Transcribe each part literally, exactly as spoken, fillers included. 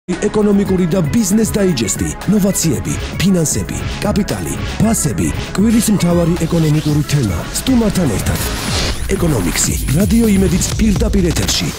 ეკონომიკური და ბიზნეს დაიჯესტი, ნოვაციები, ფინანსები, კაპიტალი, ფასები, კვირის მთავარი ეკონომიკური თემა, სტუმართან ერთად. ეკონომიქსი, რადიო იმედიც პირდაპირ ეთერში.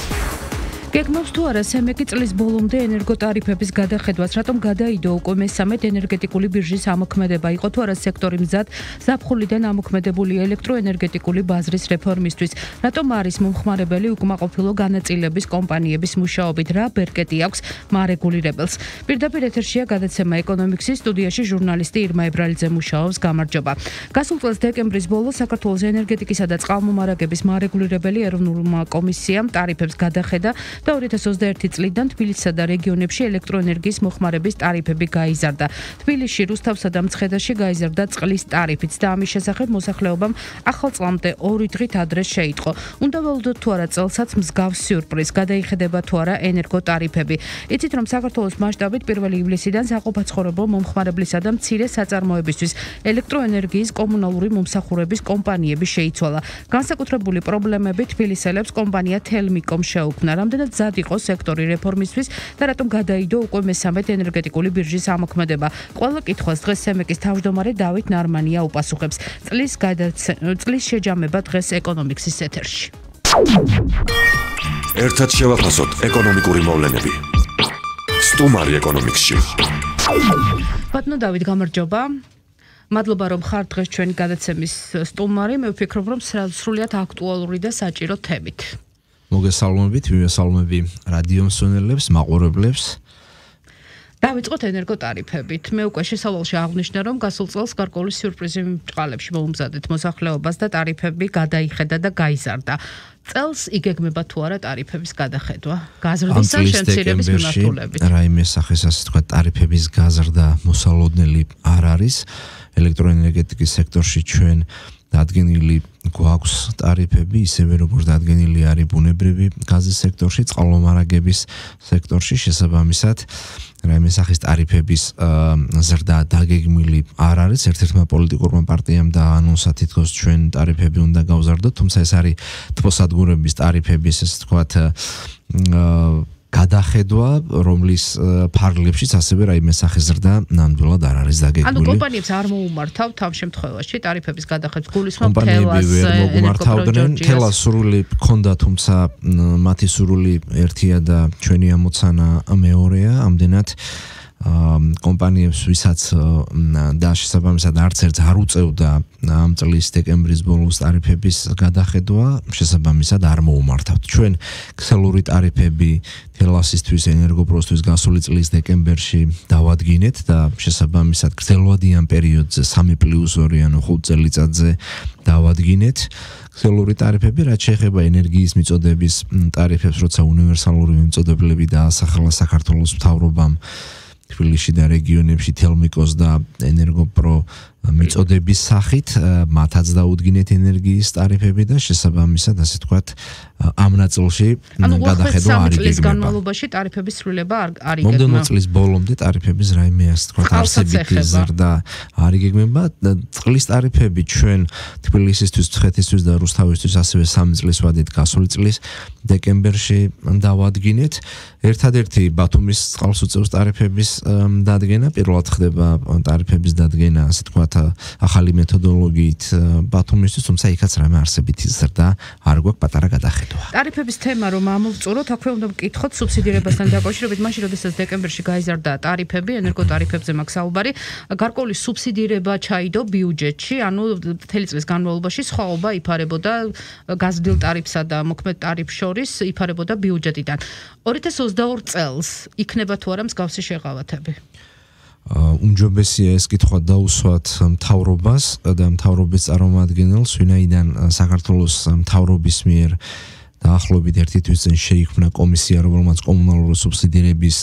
გეგმავს თუ არა სემეკი წლის ბოლომდე ენერგოტარიფების გადახედვას, რატომ გადაიდო უკვე მესამედ ენერგეტიკული ბირჟის ამოქმედება, იყო თუ არა სექტორი მზად ზაფხულიდან ამოქმედებული ელექტროენერგეტიკული ბაზრის რეფორმისთვის, რატომ არის მომხმარებელი უკმაყოფილო განაწილების კომპანიების მუშაობით, რა ბერკეტი აქვს მარეგულირებელს. პირდაპირ ეთერშია გადაცემა ეკონომიქსის, სტუდიაში ჟურნალისტი ირმა ებრალიძე მუშაობს, გამარჯობა. გასულ წელს დეკემბრის ბოლოს საქართველოს ენერგეტიკისა და წყალმომარაგების მარეგულირებელი ეროვნულმა კომისიამ ტარიფებს გადახედა და ორი ათას ოცდაერთი წლიდან თბილისსა და რეგიონებში ელექტროენერგიის მოხმარების ტარიფები გაიზარდა. თბილისში, რუსთავსა და მცხედაში გაიზარდა წყლის ტარიფიც და ამის შესახებ მოსახლეობამ ახალ წლამდე ორი დღით ადრე შეიტყო. უნდა ველოდოთ თუ არა წელსაც მსგავს სიურპრიზ, გადაიხედება თუ არა ენერგოტარიფები. იცით რომ საქართველოს მასშტაბით პირველი ივლისიდან საყოფაცხოვრებო მომხმარებლისა და მცირე საწარმოებისთვის ელექტროენერგიის კომუნალური მომსახურების კომპანიები შეიცვალა. განსაკუთრებული პრობლემები თბილისელებს კომპანია თელმიკომ შეუქმნა. რამდენად მზად იყო სექტორი რეფორმისთვის და რატომ გადაიდო უკვე მესამედ ენერგეტიკული ბირჟის ამოქმედება. ყველა კითხვას დღეს სემეკის თავმჯდომარე დავით ნარმანია უპასუხებს. წლის გადაცე წლის შეჯამება დღეს ეკონომიქსის ეთერში. ერთად შევაფასოთ ეკონომიკური მოვლენები. სტუმარი ეკონომიქსში. ბატონო დავით, გამარჯობა. მადლობა რომ ხარ დღეს ჩვენი გადაცემის სტუმარი. მე ვფიქრობ რომ სრულიად აქტუალური და საჭირო თემით. მოგესალმებით, მივესალმები რადიო მსმენელებს, მაყურებლებს. დავიწყოთ ენერგოტარიფებით. მე უკვე შესავალში აღვნიშნე, რომ გასულ წელს გარკვეული სიურპრიზი წყალებში მოუმზადეთ მოსახლეობას და ტარიფები გადაიხედა და გაიზარდა. წელს იგეგმება თუ არა ტარიფების გადახედვა? გაზრდის ან შემცირების მიმართულებით? რაიმე სახეს ასე თქვა ტარიფების გაზრდა მოსალოდნელი არ არის. ელექტროენერგეტიკის სექტორში ჩვენ დადგენილი გვაქვს ტარიფები, ისევე როგორც დადგენილი არის ბუნებრივი გაზის სექტორში, წყალმომარაგების სექტორში შესაბამისად რაიმე სახის ტარიფების ზრდა დაგეგმილი არ არის. ერთ-ერთმა პოლიტიკურმა პარტიამ დაანონსა თითქოს ჩვენ ტარიფები უნდა გავზარდოთ, თუმცა ეს არის თბოსადგურების ტარიფების, ესე ვთქვათ, გადახედვა, რომლის ფარგლებშიც ასევე რაიმე სახის ზრდა ნამდვილად არ არის დაგეგმილი. ანუ კომპანიებს არ მოუმართავთ ამ შემთხვევაში ტარიფების გადახედვას, გულისხმობ კომპანიები ვერ მოგუმართავდნენ, თელას სურვილი ჰქონდა, თუმცა მათი სურვილი ერთია და ჩვენი ამოცანა მეორეა, ამდენად კომპანიებს ვისაც და შესაბამისად არც ერთს არ უწევდა ამ წლის დეკემბრის ბოლოს ტარიფების გადახედვა, შესაბამისად არ მოუმართავთ. ჩვენ ქსელური ტარიფები თელასისთვის, ენერგოპროსთვის გასული წლის დეკემბერში დავადგინეთ და შესაბამისად გრძელვადიან პერიოდზე სამი პლუს ორი ანუ ხუთ წელიწადზე დავადგინეთ. ქსელური ტარიფები, რაც შეეხება ენერგიის მიწოდების ტარიფებს, როცა უნივერსალური მიწოდებები დაასახელა საქართველოს მთავრობამ თბილისში და რეგიონებში თელმიკოს და ენერგოპრო მიწოდების სახით, მათაც დაუდგინეთ ენერგიის ტარიფები და შესაბამისად, ასე ვთქვათ, ამ ნაწილში გადახედვა არ იგეგმება. წლის განმავლობაში ტარიფების სრულება არ იგეგმება. მომდევნო წლის ბოლომდე ტარიფების რაიმე, ასე ვთქვათ, არსებითი ზრდა არ იგეგმება. წყლის ტარიფები ჩვენ თბილისისთვის, მცხეთისთვის და რუსთავისთვის ასევე სამი წლის ვადით გასული წლის დეკემბერში დავადგინეთ. ერთადერთი ბათუმის წყალს უწევს ტარიფების დადგენა, პირველად ხდება ტარიფების დადგენა, ასე ვთქვათ, ახალი მეთოდოლოგიით ბათუმისთვის, თუმცა იქაც რამე არსებითი ზრდა არ გვაქვს, პატარა გადახედვა. ტარიფების თემა რომ ამოვწუროთ, აქვე უნდა ვკითხოთ სუბსიდირებასთან დაკავშირებით, მაშინ როდესაც დეკემბერში გაიზარდა ტარიფები, ენერგოტარიფებზე მაქვს საუბარი, გარკვეული სუბსიდირება ჩაიდო ბიუჯეტში, ანუ მთელი წლის განმავლობაში სხვაობა იფარებოდა გაზრდილ ტარიფსა და მოქმედ ტარიფს შორის იფარებოდა ბიუჯეტიდან. ორი ათას ოცდაორ წელს იქნება თუ არა მსგავსი შეღავათები? უმჯობესია ეს კითხვა დაუსვათ მთავრობას და მთავრობის წარმომადგენელს, ვინაიდან საქართველოს მთავრობის მიერ დაახლოებით ერთი თვის წინ შეიქმნა კომისია, რომელმაც კომუნალური სუბსიდირების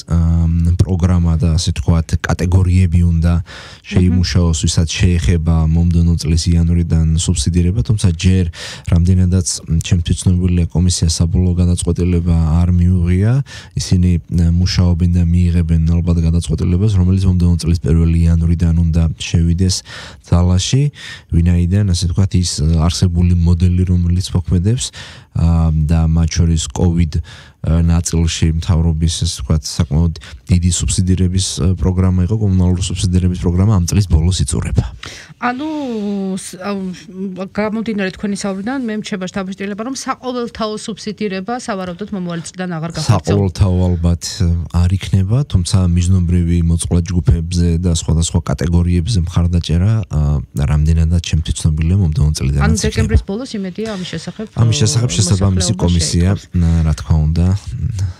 პროგრამა და ასე ვთქვათ კატეგორიები უნდა შეიმუშაოს, ვისაც შეეხება მომდევნო წლის იანვრიდან სუბსიდირება, თუმცა ჯერ რამდენადაც ჩემთვის ცნობილია კომისია საბოლოო გადაწყვეტილება არ მიუღია, ისინი მუშაობენ და მიიღებენ ალბათ გადაწყვეტილებას, რომელიც მომდევნო წლის პირველი იანვრიდან უნდა შევიდეს ძალაში, ვინაიდან ასე ვთქვათ ის არსებული მოდელი, რომელიც მოქმედებს და მათ შორის COVID ნაწილში მთავრობის ესე ვთქვათ საკმაოდ დიდი სუბსიდირების პროგრამა იყო, კომუნალური სუბსიდირების პროგრამა ამ წლის ბოლოს იწურება. ანუ გამომდინარე თქვენი საუბრიდან მე მრჩება შთაბეჭდილება, რომ საყოველთაო სუბსიდირება სავარაუდოდ მომავალი წლიდან აღარ გახდება. საყოველთაო ალბათ არ იქნება, თუმცა მიზნობრივი მოწყვლად ჯგუფებზე და სხვადასხვა კატეგორიებზე მხარდაჭერა რამდენადაც ჩემთვის ცნობილია მომდევნო წლიდან. ანუ დეკემბრის ბოლოს იმედია ამის შესახებ. ამის შესახებ შესაბამისი კომისია, რა თქმა უნდა,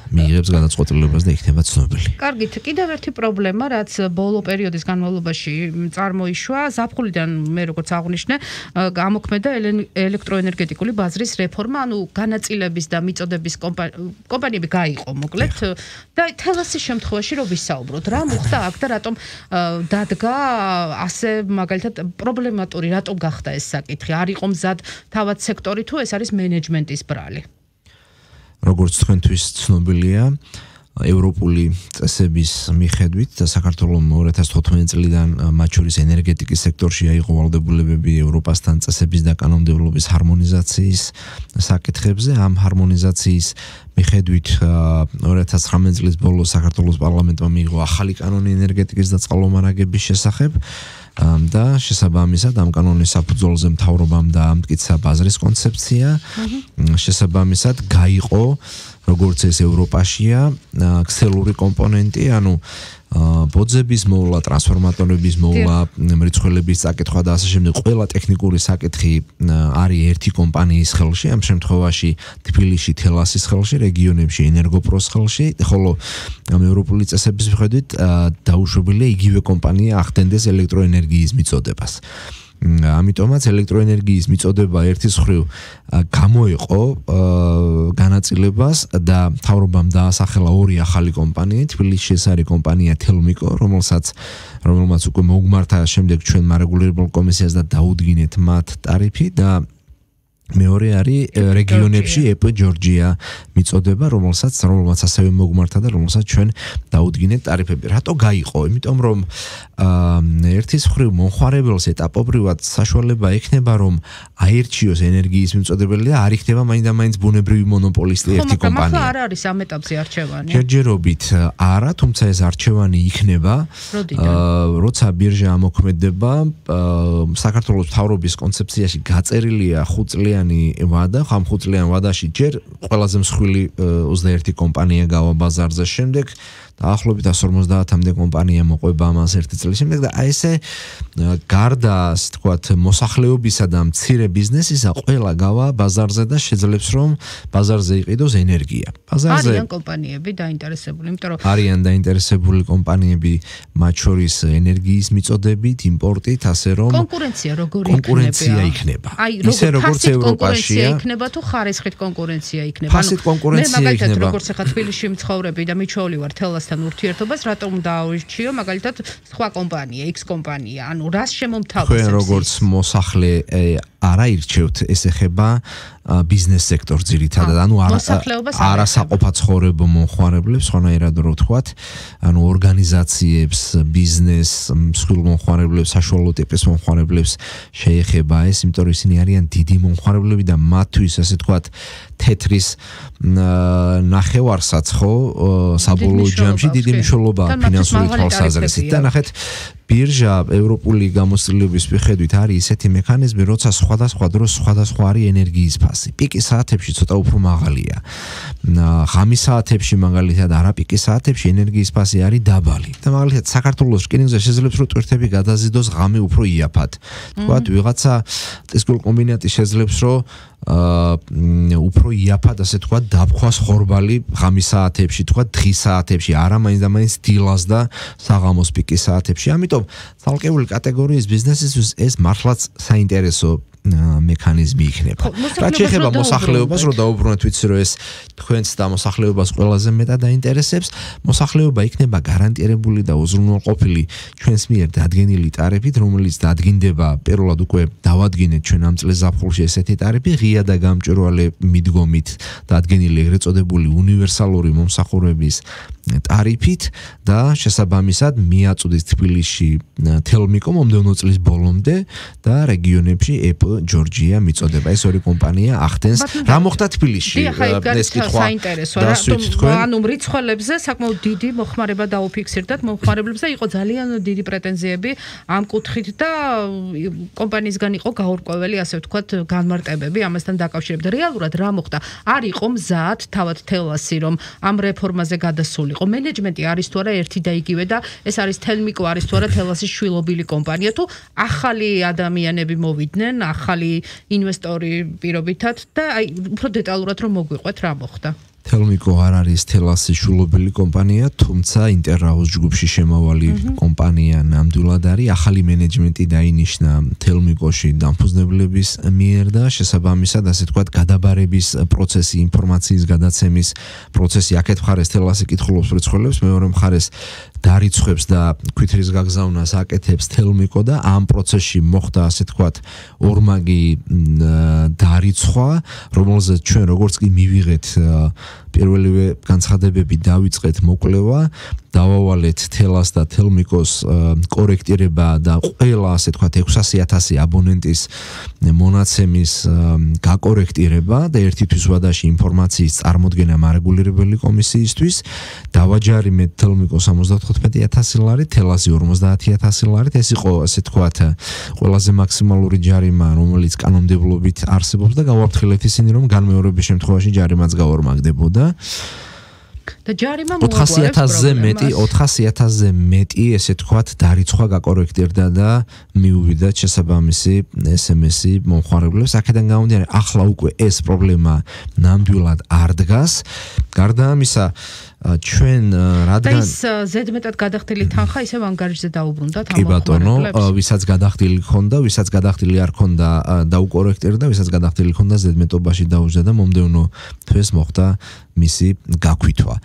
მიიღებს გადაწყვეტილებას და იქნება ცნობილი. კარგით, კიდევ ერთი პრობლემა, რაც ბოლო პერიოდის განმავლობაში წარმოიშვა, ზაფხულიდან მე როგორც აღვნიშნე, გამოქმედა ელექტროენერგეტიკული ბაზრის რეფორმა, ანუ განაწილების და მიწოდების კომპანიები გაიყო, მოკლედ, და თელასის შემთხვევაში რო ვისაუბროთ, რა მოხდა აქ და რატომ დადგა ასე მაგალითად პრობლემატური, რატომ გახდა ეს საკითხი? არ იყო მზად თავად სექტორი თუ ეს არის მენეჯმენტის ბრალი? როგორც თქვენთვის ცნობილია, ევროპული წესების მიხედვით და საქართველოს ორი ათას თხუთმეტი წლიდან მათ შორის ენერგეტიკის სექტორში აიღო ვალდებულებები ევროპასთან წესების და კანონმდებლობის ჰარმონიზაციის საკითხებზე. ამ ჰარმონიზაციის მიხედვით ორი ათას ცხრამეტი წლის ბოლოს საქართველოს პარლამენტმა მიიღო ახალი კანონი ენერგეტიკის და წყალმომარაგების შესახებ და შესაბამისად ამ კანონის საფუძველზე მთავრობამ დაამტკიცა ბაზრის კონცეფცია. შესაბამისად გაიყო როგორც ეს ევროპაშია ქსელური კომპონენტი, ანუ ბოძების მოვლა, ტრანსფორმატორების მოვლა, მრიცხველების საკითხვა და ასე შემდეგ, ყველა ტექნიკური საკითხი არის ერთი კომპანიის ხელში, ამ შემთხვევაში თბილისში თელასის ხელში, რეგიონებში ენერგოპროს ხელში, ხოლო ამ ევროპული წესების მიხედვით დაუშვებელია იგივე კომპანია ახდენდეს ელექტროენერგიის მიწოდებას. ამიტომაც ელექტროენერგიის მიწოდება ერთის მხრივ გამოიყო განაწილებას და მთავრობამ დაასახელა ორი ახალი კომპანია. თბილისში ეს არის კომპანია თელმიკო, რომელსაც რომელმაც უკვე მოგმართა შემდეგ ჩვენ მარეგულირებელ კომისიას და დაუდგინეთ მათ ტარიფი და მეორე არის რეგიონებში ეპ ჯორჯია მიწოდება, რომელსაც რომელმაც ასევე მოგმართა და რომელსაც ჩვენ დაუდგინეთ ტარიფები. რატო გაიყო? იმიტომ რომ ერთის მხრივ მომხმარებელს ეტაპობრივად საშუალება ექნება, რომ აირჩიოს ენერგიის მიწოდებელი და არ იქნება მაინდა-მაინც ბუნებრივი მონოპოლისტი ერთი კომპანია. ხო, არ არის ამ ეტაპზე არჩევანი. ჯერჯერობით არა, თუმცა ეს არჩევანი იქნება, როცა ბირჟა ამოქმედება. საქართველოს მთავრობის კონცეფციაში გაწერილია ხუთწლიანი ვადა, ხამ ხუთწლიან ვადაში ჯერ ყველაზე მსხვილი ოცდაერთი კომპანია გავა ბაზარზე, შემდეგ დაახლოებით εκατს ორმოცდაათამდე კომპანია მოყვება ამას ერთი წლის შემდეგ და აი ესე გარდა ასე თქვათ მოსახლეობისა და მცირე ბიზნესისა ყველა გავა ბაზარზე და შეძლებს რომ ბაზარზე იყიდოს ენერგია. ბაზარზე არიან კომპანიები დაინტერესებული, იმიტომ რომ არიან დაინტერესებული კომპანიები მათ შორის ენერგიის მიწოდებით, იმპორტით, ასე რომ კონკურენცია როგორი კონკურენცია იქნება. ისე როგორც ევროპაშია იქნება თუ ხარისხით კონკურენცია იქნება. ფასით კონკურენცია იქნება. მე მაგალითად როგორც ახლა თბილისში მცხოვრები და მიჩვეული ვარ თელას ურთიერთობას რატომ დაავირჩიო მაგალითად სხვა კომპანია, X კომპანია, ანუ რას შემომთავაზებს? თქვენ როგორც მოსახლე არ აირჩევთ, ეს ეხება ბიზნეს სექტორს ძირითადად, ანუ არასაყოფაცხოვრებო მომხმარებლებს, ხანაერად რო ვთქვათ, ანუ ორგანიზაციებს, ბიზნეს, მსხვილ მომხმარებლებს, საშუალო ტიპის მომხმარებლებს შეეხება ეს, იმიტომ რომ ისინი არიან დიდი მომხმარებლები და მათთვის, ასე ვთქვათ, თეთრის ნახევარსაც ხო საბოლოო ჯამში დიდი მნიშვნელობაა ფინანსური თვალსაზრისით და ნახეთ ბირჟა ევროპული გამოცდილების მიხედვით არის ისეთი მექანიზმი, როცა სხვადასხვა დროს სხვადასხვა არის ენერგიის ფასი. პიკის საათებში ცოტა უფრო მაღალია. ღამის საათებში მაგალითად არაპიკის საათებში ენერგიის ფასი არის დაბალი. და მაგალითად საქართველოს რკინიგზა შეძლებს რომ ტვირთები გადაზიდოს ღამე უფრო იაფად. თქვათ ვიღაცა ტესკულ კომბინატი შეძლებს რომ უფრო იაფად ასე თქვა დაფხვას ხორბალი ღამის საათებში თქვა დღის საათებში არა მაინც და მაინც დილას და საღამოს პიკის საათებში. ამიტომ ცალკეული კატეგორიის ბიზნესისთვის ეს მართლაც საინტერესო მექანიზმი იქნება. რაც შეეხება მოსახლეობას, რომ დაუბრუნოთ ვიცი რომ ეს თქვენს და მოსახლეობას ყველაზე მეტად დაინტერესებს, მოსახლეობა იქნება გარანტირებული და უზრუნველყოფილი ჩვენს მიერ დადგენილი ტარიფით, რომელიც დადგინდება პირველად უკვე დავადგინეთ ჩვენ ამ წლის ზაფხულში ესეთი ტარიფი, ღია და გამჭვირვალე მიდგომით დადგენილი ეგრეთ წოდებული უნივერსალური მომსახურების ტარიფით და შესაბამისად მიაწვდის თბილისში თელმიკო მომდევნო წლის ბოლომდე და რეგიონებში ეპ ჯორჯია მიწოდება. ეს ორი კომპანია ახდენს. რა მოხდა თბილისში? ეს კითხვა საინტერესოა. რატომ ანუ მრიცხველებზე საკმაოდ დიდი მოხმარება დაუფიქსირდათ, მოხმარებლებზე იყო ძალიან დიდი პრეტენზიები ამ კუთხით და კომპანიისგან იყო გაურკვეველი, ასე ვთქვათ, განმარტებები ამასთან დაკავშირებით. რეალურად რა მოხდა? არ იყო მზად თავად თელასი, რომ ამ რეფორმაზე გადასულიყო. მენეჯმენტი არის თუ არა ერთი და იგივე და ეს არის თელმიკო არის თუ არა თელასის შვილობილი კომპანია თუ ახალი ადამიანები მოვიდნენ, ახალი ინვესტორი პირობითად და აი უფრო დეტალურად რომ მოგვიყვეთ რა მოხდა. თელმიკო არ არის თელასის შვილობილი კომპანია, თუმცა ინტერაუს ჯგუფში შემავალი კომპანია ნამდვილად არის. ახალი მენეჯმენტი დაინიშნა თელმიკოში დამფუძნებლების მიერ და შესაბამისად, ასე ვთქვათ, გადაბარების პროცესი, ინფორმაციის გადაცემის პროცესი აქეთ მხარეს თელასი კითხულობს მრიცხველებს, მეორე მხარეს დარიცხვებს და ქვითრის გაგზავნას აკეთებს თელმიკო და ამ პროცესში მოხდა, ასე ვთქვათ, ორმაგი დარიცხვა, რომელზეც ჩვენ როგორც კი მივიღეთ პირველივე განცხადებები დავიწყეთ მოკვლევა, დავავალეთ თელას და თელმიკოს კორექტირება და ყველა, ასე ვთქვათ, ექვსასი ათასი აბონენტის მონაცემის გაკორექტირება და ერთითვის ვადაში ინფორმაციის წარმოდგენა მარეგულირებელი კომისიისთვის. დავაჯარიმეთ თელმიკოს ორმოცდაოთხმეტი ათასი ლარი, თელასი ორმოცდაათი ათასი ლარით. ეს იყო, ასე ვთქვათ, ყველაზე მაქსიმალური ჯარიმა, რომელიც კანონმდებლობით არსებობს და გავაფრთხილეთ ისინი, რომ განმეორების შემთხვევაში ჯარიმაც გაორმაგდებოდა. და ჯარიმა ოთხასი ათასზე მეტი, ოთხასი ათასზე მეტი, ესე ვთქვათ, დარიცხვა გაკორექტირდა და მიუვიდა შესაბამისი ეს ემ ესი მომხმარებლებს. აქედან გამომდინარე, ახლა უკვე ეს პრობლემა ნამდვილად არ დგას. გარდა ამისა, ჩვენ რადგან ის ზედმეტად გადახდილი თანხა ისევ ანგარიშზე დაუბრუნდათ ამ კი ბატონო, ვისაც გადახდილი ქონდა, ვისაც გადახდილი არ ქონდა დაუკორექტირდა, ვისაც გადახდილი ქონდა ზედმეტობაში დაუჯდა და მომდევნო თვეს მოხდა მისი გაქვითვა.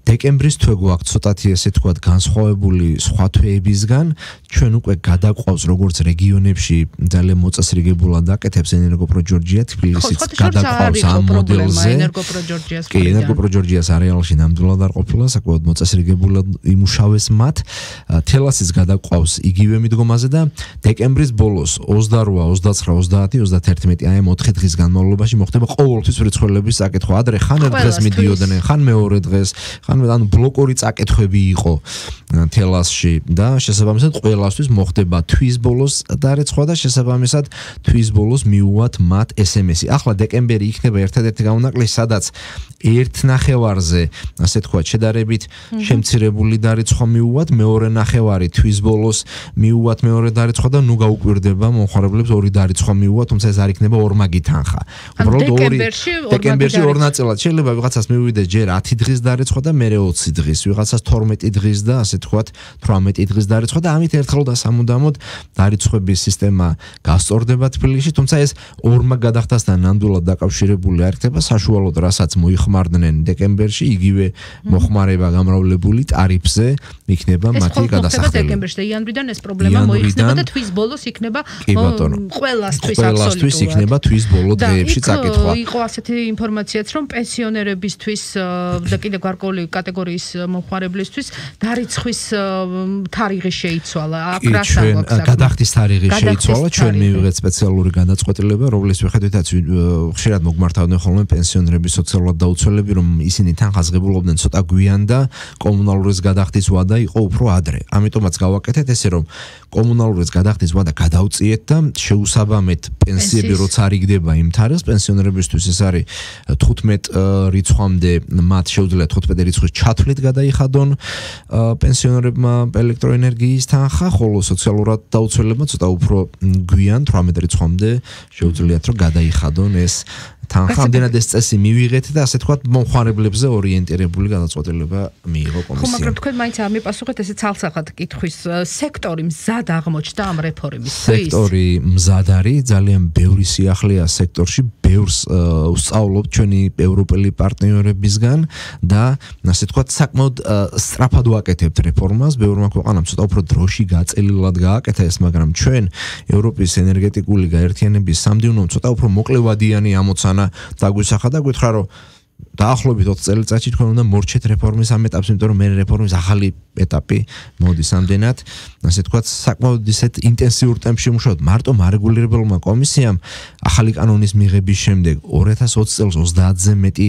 დეკემბრის თვე გვაქვს ცოტათი ესე თქვათ განსხვავებული სხვა თვეებისგან, ჩვენ უკვე გადაყვავს როგორც რეგიონებში ძალიან მოწესრიგებულად აკეთებს ენერგოპრო ჯორჯია, თბილისიც გადაყვავს ამ მოდელზე. კი, ენერგოპრო ჯორჯიას არეალში ნამდვილად არ ყოფილა, საკმაოდ მოწესრიგებულად იმუშავეს მათ. თელასიც გადაყვავს იგივე მიდგომაზე და დეკემბრის ბოლოს ოცდარვა, ოცდაცხრა, ოცდაათი, ოცდათერთმეტი აი ამ ოთხი დღის განმავლობაში მოხდება ყოველთვის მრიცხველების საკითხვა. ადრე ხან ერთ დღეს მიდიოდნენ, ხან მეორე დღეს, ხან ანუ ბლოკური წაკითხები იყო თელასში და შესაბამისად ყველასთვის მოხდება თვის ბოლოს დარიცხვა და შესაბამისად თვის ბოლოს მიუვათ მათ ეს ემ ესი. ახლა დეკემბერი იქნება ერთადერთი გამონაკლისი, სადაც ერთ ნახევარზე, ასე თქვა, შედარებით შემცირებული დარიცხვა მიუვათ, მეორე ნახევარი თვის ბოლოს მიუვათ მეორე დარიცხვა და ნუ გაუკვირდება მომხმარებლებს ორი დარიცხვა მიუვათ, თუმცა ეს არ იქნება ორმაგი თანხა. უბრალოდ ორი დეკემბერში ორ ნაწილად შეიძლება ვიღაცას მივიდეს ჯერ ათი დღის დარიცხვა და მერე ოცი დღის, ვიღაცას თორმეტი დღის და ასე თქვათ თვრამეტი დღის დარიცხვა და ამით ერთხელ და სამუდამოდ დარიცხვების სისტემა გასწორდება თბილისში, თუმცა ეს ორმაგ გადახდასთან ნამდვილად დაკავშირებული არ იქნება, საშუალოდ რასაც მოიხმარდნენ დეკემბერში, იგივე მოხმარება გამრავლებული ტარიფზე იქნება მათი გადასახდელი. დეკემბერში და იანვრიდან ეს პრობლემა მოიხსნება და თვის ბოლოს იქნება ყველასთვის ყველასთვის იქნება თვის ბოლო დღეებში წაკითხვა. იყო ასეთი ინფორმაციაც, რომ პენსიონერებისთვის და კიდევ გარკვეული კატეგორიის მომხმარებლისთვის დარიცხვის თარიღი შეიცვალა. აქ რა საუბრობთ? გადახდის თარიღი შეიცვალა, ჩვენ მივიღეთ სპეციალური გადაწყვეტილება, რომლის მიხედვითაც ხშირად მოგმართავდნენ ხოლმე პენსიონერების სოციალურად დაუცველები, რომ ისინი თანხას ღებულობდნენ ცოტა გვიან და კომუნალურის გადახდის ვადა იყო უფრო ადრე. ამიტომაც გავაკეთეთ ესე, რომ კომუნალურის გადახდის ვადა გადავწიეთ და შეუსაბამეთ პენსიები როცა არ იგდება იმ თარიღს, პენსიონერებისთვის ეს არის თხუთმეტ რიცხვამდე მათ შეუძლიათ თხუთმეტი რიცხვის ჩათვლით გადაიხადონ პენსიონერებმა ელექტროენერგიის თანხა, ხოლო სოციალურად დაუცველებმა ცოტა უფრო გვიან თვრამეტ რიცხვამდე შეუძლიათ რომ გადაიხადონ ეს თანხა. ამდენად ეს წესი მივიღეთ და ასე თქვათ მომხმარებლებზე ორიენტირებული გადაწყვეტილება მიიღო კომისიამ. ხო, მაგრამ თქვენ მაინც ამიპასუხეთ ესე ცალსახად კითხვის, სექტორი მზად აღმოჩნდა ამ რეფორმისთვის? სექტორი მზად არის, ძალიან ბევრი სიახლეა სექტორში, ბევრს ვსწავლობ ჩვენი ევროპელი პარტნიორებისგან და ასე თქვათ საკმაოდ სწრაფად ვაკეთებთ რეფორმას, ბევრმა ქვეყანამ ცოტა უფრო დროში გაწელილად გააკეთა ეს, მაგრამ ჩვენ ევროპის ენერგეტიკული გაერთიანების სამდივნომ ცოტა უფრო მოკლევადიანი ამოცანა დაგვისახა და გითხრა რომ დაახლოებით ოთხ წელიწადში თქვენ უნდა მორჩეთ რეფორმის ამ ეტაპს, იმიტომ რომ მე რეფორმის ახალი ეტაპი მოდის ამდენად, ასე თქვა, საკმაოდ ისეთ ინტენსიურ ტემპში მუშაობთ. მარტო მარეგულირებელმა კომისიამ ახალი კანონის მიღების შემდეგ ორი ათას ოცი წელს ოცდაათზე მეტი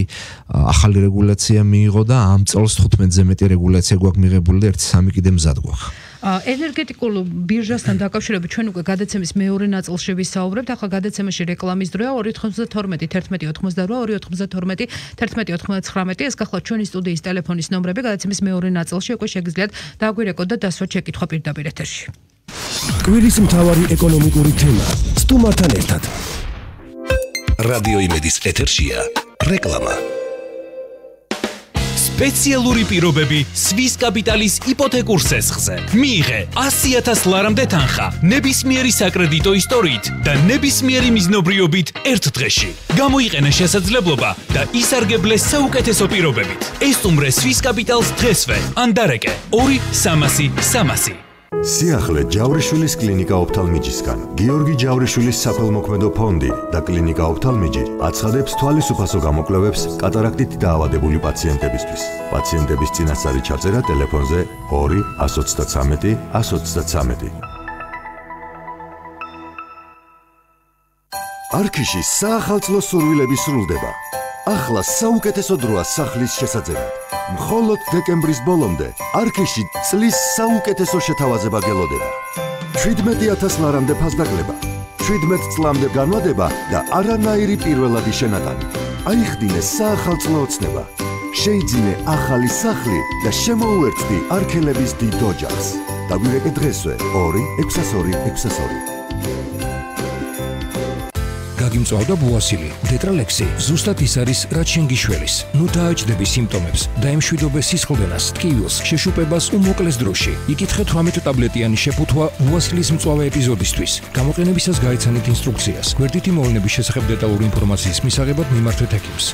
ახალი რეგულაცია მიიღო და ამ წელს თხუთმეტზე მეტი რეგულაცია გვაქვს მიღებული და ერთი სამი კიდე მზად გვაქვს. ენერგეტიკულ ბირჟასთან დაკავშირებით ჩვენ უკვე გადაცემის მეორე ნაწილში ვისაუბრებთ. ახლა გადაცემაში რეკლამის დროა ორი თხუთმეტი თერთმეტი ოთხმოცდარვა ორი ოთხმოცდათორმეტი თერთმეტი ოთხმოცდათხრამეტი ეს გახლავთ ჩვენი სტუდიის ტელეფონის ნომრები. გადაცემის მეორე ნაწილში უკვე შეგიძლიათ დაგვირეკოთ და დასვათ შეკითხვა პირდაპირ ეთერში. კვირის მთავარი ეკონომიკური თემა სტუმართან ერთად. რადიო იმედის ეთერშია რეკლამა. სპეციალური პირობები სვის კაპიტალის იპოთეკურ სესხზე. მიიღე ასი ათას ლარამდე თანხა ნებისმიერი საკრედიტო ისტორიით და ნებისმიერი მიზნობრიობით ერთ დღეში. გამოიყენე შესაძლებლობა და ისარგებლე საუკეთესო პირობებით. ესტუმრე სვის კაპიტალს დღესვე ან დარეკე ორი სამასი სამასი. სიახლე ჯავრიშვილის კლინიკა ოფთალმიჯისგან. გიორგი ჯავრიშვილის საქველმოქმედო ფონდი და კლინიკა ოფთალმიჯი აცხადებს თვალის გამოკვლევებს კატარაქტით დაავადებული პაციენტებისთვის. პაციენტების წინასწარი ჩაწერა ტელეფონზე ორი ათს ოცდათრამეტი ათს ოცდათრამეტი. არქიში საახალწლო სურვილები სრულდება. ახლა საუკეთესო დროა სახლის შესაძენად. მხოლოდ დეკემბრის ბოლომდე არქიში წლის საუკეთესო შეთავაზება გელოდება. შვიდმეტი ათას ლარამდე ფასდაგლება, შვიდმეტ წლამდე განმადება და არანაირი პირველადი შენატანი. აიხდინე საახალწლო ოცნება. შეიძინე ახალი სახლი და შემოუერთდი არქელების დიდ ოჯახს. დაგვირეკე დღესვე ორი ექვსას ორი ექვსას ორი. გაგიმწვავდა ბუასილი, დეტრალექსი, ზუსტად ის არის, რაც შენ გიშველის. ნუ დააჭდები სიმპტომებს, დაემშვიდობე სისხლდენას, ტკივილს, შეშუპებას უმოკლეს დროში. იკითხე თვრამეტ ტაბლეტიანი შეფუთვა ბუასილის მწვავე ეპიზოდისთვის. გამოყენებისას გაიცანით ინსტრუქციას. გვერდითი მოვლენების შესახებ დეტალური ინფორმაციის მისაღებად მიმართვეთ ექიმს.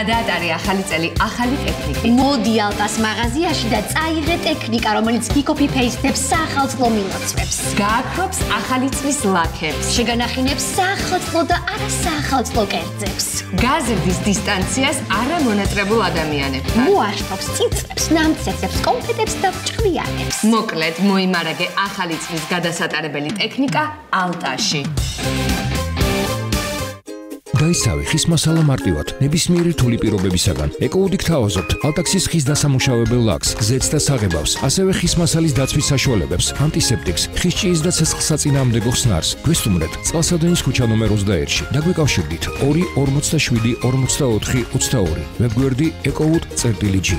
გადაატარე ახალი წელი, ახალი ტექნიკით. მოდი ალტას მაღაზიაში და წაიღე ტექნიკა, რომელიც გიკოპი-პეისტებს საახალწლო მილოცვებს. გააქრობს ახალი წლის ლაქებს. შეგანახინებს საახალწლო და არასაახალწლო კერძებს. გაზრდის დისტანციას არამონატრებულ ადამიანებთან. მოაშთობს წიწრებს, ნამცეცებს, კონფეტებს და ჭკვიანებს. მოკლედ, მოიმარაგე ახალი წლის გადასატარებელი ტექნიკა ალტაში. გაისავე ხის მასალა მარტივად, ნებისმიერი რთული პირობებისაგან. ეკოუდით თავაზობთ ალტაქსის ხის დასამუშავებელ ლაქს, ზეთს და საღებავს, ასევე ხის მასალის დაცვის საშუალებებს, ანტისეპტიკს, ხის ჭიის და ცეცხლსაწინააღმდეგო ხსნარს. გვესტუმრეთ წყალსადენის ქუჩა ნომერ ოცდაერთში. დაგვიკავშირდით ორი ორმოცდაშვიდი ორმოცდაოთხი ოცდაორი. ვებგვერდი ეკოუდ.წერტილი.ჯი.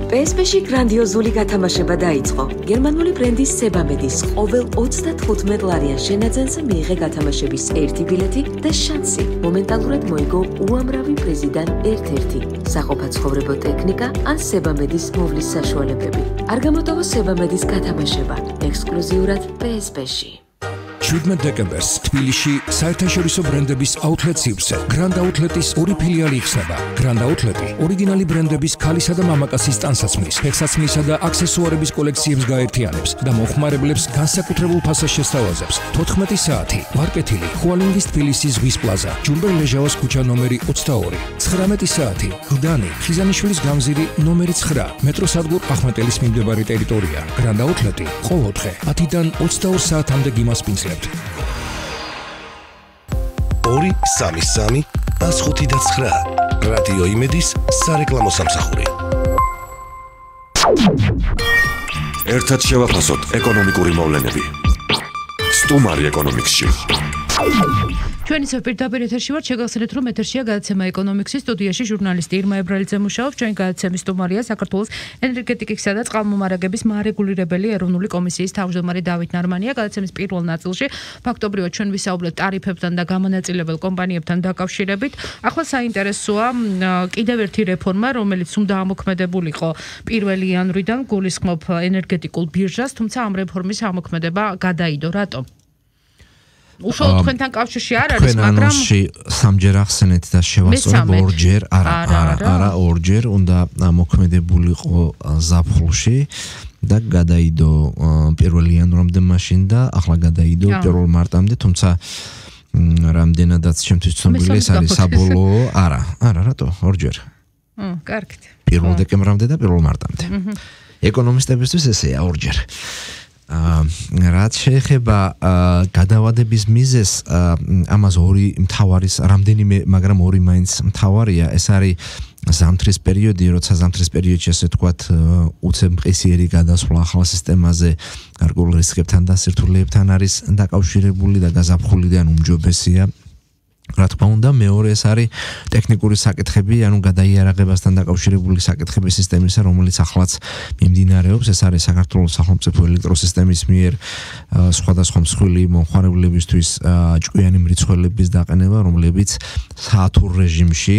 პი ეს პი-ში გრანდიოზული გათამაშება დაიწყო. გერმანული ბრენდის სებამედის ყოველ ოცდათხუთმეტ ლარიან შენაძენზე მიიღე გათამაშების ერთი ბილეთი და შანსი მომენტალურად მოიგო უამრავი პრიზიდან ერთ-ერთი საყოფაცხოვრებო ტექნიკა ან სებამედის მოვლის საშუალებები. არ გამოტოვო სებამედის გათამაშება ექსკლუზიურად პი ეს პი-ში. შვიდმეტ დეკემბერს თბილისში საერთაშორისო ბრენდების აუთლეტ სივრცე გრანდ აუთლეტის ორი ფილიალი იხსნება. გრანდ აუთლეტი ორიგინალი ბრენდების ქალისა და მამაკაცის ტანსაცმლის, ფეხსაცმლისა და აქსესუარების კოლექციებს გაერთიანებს და მოხმარებლებს განსაკუთრებულ ფასას შესთავაზებს. თოთხმეტი საათი, ვარკეთილი, ხუალინგის თბილისის ზღვის პლაზა, ჯუმბერ ლეჟავას ქუჩა ნომერი ოცდაორი. ცხრამეტი საათი, გლდანი, ხიზანიშვილის გამზირი ნომერი ცხრა, მეტროსადგურ ახმეტელის მიმდებარე ტერიტორია. გრანდ აუთლეტი ყოველდღე ათიდან ოცდაორ საათამდე გიმასპინძლებს. ორი სამი სამი ას ხუთი და ცხრა. რადიო იმედის სარეკლამო სამსახური. ერთად შევაფასოთ ეკონომიკური მოვლენები. სტუმარი ეკონომიქსში. ჩვენი პირდაპირ ეთერში ვართ, შეგახსენეთ, რომ ეთერშია გადაცემა ეკონომიქსის სტუდიაში ჟურნალისტი ირმა ებრალიძე მუშაობს. ჩვენი გადაცემის სტუმარია საქართველოს ენერგეტიკისა და წყალმომარაგების მარეგულირებელი ეროვნული კომისიის თავმჯდომარე დავით ნარმანია. გადაცემის პირველ ნაწილში ფაქტობრივად ჩვენ ვისაუბრეთ ტარიფებთან და გამონაწილებელ კომპანიებთან დაკავშირებით. ახლა საინტერესოა კიდევ ერთი რეფორმა, რომელიც უნდა ამოქმედებულიყო პირველი იანვრიდან, გულისხმობ ენერგეტიკულ ბირჟას, თუმცა ამ რეფორმის ამოქმედება გადაიდო. რატომ? უშუალოდ თქვენთან კავშირში არ არის, მაგრამ თქვენ ანონსში სამჯერ ახსენეთ და შევასწორებ ორჯერ, არა, არა, არა, ორჯერ უნდა მოქმედებულიყო ზაფხულში და გადაიდო პირველი იანვრამდე მაშინ და ახლა გადაიდო პირველ მარტამდე, თუმცა რამდენადაც ჩემთვის ცნობილი ეს არის საბოლოო, არა, არა, რატო? ორჯერ. აა, კარგით. პირველ დეკემბრამდე და პირველ მარტამდე. ეკონომისტებისთვის ესეა ორჯერ. აა რაც შეეხება გადავადების მიზეს, ამას ორი მთავარის, რამდენიმე, მაგრამ ორი მაინც მთავარია, ეს არის ზამთრის პერიოდი, როცა ზამთრის პერიოდში ასე თქვათ უცებ მყისიერი გადასვლა ახალ სისტემაზე გარკვეულ რისკებთან და სირთულეებთან არის დაკავშირებული და გაზაფხული და უმჯობესია. რა თქმა უნდა, მეორე ეს არის ტექნიკური საკითხები, ანუ გადაიარაღებასთან დაკავშირებული საკითხები სისტემისა, რომელიც ახლაც მიმდინარეობს. ეს არის საქართველოს სახელმწიფო ელექტროსისტემის მიერ სხვადასხვა მსხვილი მომხმარებლებისთვის ჭკვიანი მრიცხველების დაყენება, რომლებიც საათურ რეჟიმში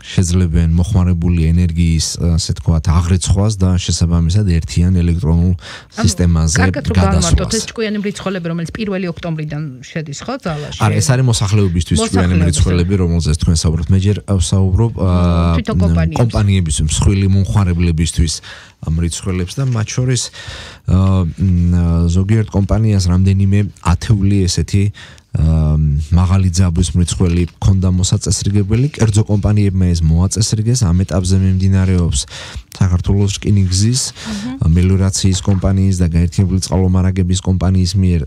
შეძლებენ მოხმარებული ენერგიის, ასე თქვათ, აღრიცხვას და შესაბამისად ერთიან ელექტრონულ სისტემაზე გადასვლას. ეს ჭკვიანი მრიცხველები, რომელიც პირველი ოქტომბრიდან შედის, ხო, ძალაში? არა, ეს არის მოსახლეობისთვის ჭკვიანი მრიცხველები, რომელზეც თქვენ საუბრობთ. მე ჯერ ვსაუბრობ კომპანიების, მსხვილი მომხმარებლებისთვის მრიცხველებს და მათ შორის ზოგიერთ კომპანიას რამდენიმე ათეული ესეთი მაღალი ძაბვის მრიცხველი ქონდა მოსაწესრიგებელი, კერძო კომპანიებმა ეს მოაწესრიგეს, ამ ეტაპზე მიმდინარეობს საქართველოს რკინიგზის, მელიორაციის კომპანიის და გაერთიანებული წყალმომარაგების კომპანიის მიერ